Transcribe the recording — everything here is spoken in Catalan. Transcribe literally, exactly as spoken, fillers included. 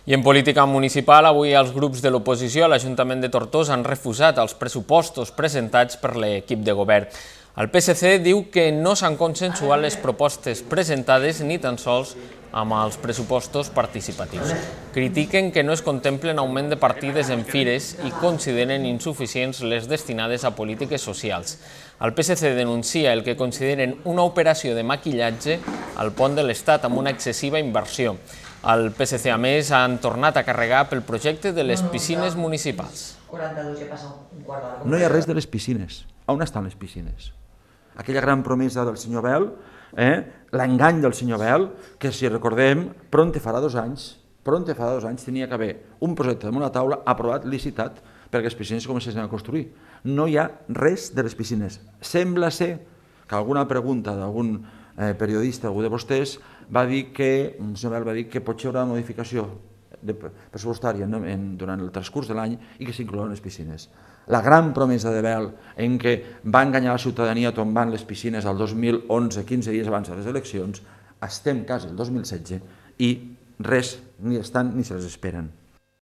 I en política municipal, avui els grups de l'oposició a l'Ajuntament de Tortosa han refusat els pressupostos presentats per l'equip de govern. El P S C diu que no s'han consensuat les propostes presentades ni tan sols amb els pressupostos participatius. Critiquen que no es contemplen augment de partides en fires i consideren insuficients les destinades a polítiques socials. El P S C denuncia el que consideren una operació de maquillatge al pont de l'Estat amb una excessiva inversió. El P S C, a més, han tornat a carregar pel projecte de les piscines municipals. No hi ha res de les piscines. On estan les piscines? Aquella gran promesa del senyor Bel, eh? l'engany del senyor Bel, que si recordem, pronte farà dos anys, pronte farà dos anys tenia que haver un projecte damunt la taula aprovat, licitat, perquè les piscines comencessin a construir. No hi ha res de les piscines. Sembla ser que alguna pregunta d'algun eh, periodista, algú de vostès, va dir que, el senyor Bel va dir que potser hi haurà una modificació pressupostària durant el transcurs de l'any i que s'inclouen les piscines. La gran promesa de Bel en què va enganyar la ciutadania tombant les piscines el dos mil onze, quinze dies abans de les eleccions, estem quasi el dos mil setze i res ni estan ni se les esperen.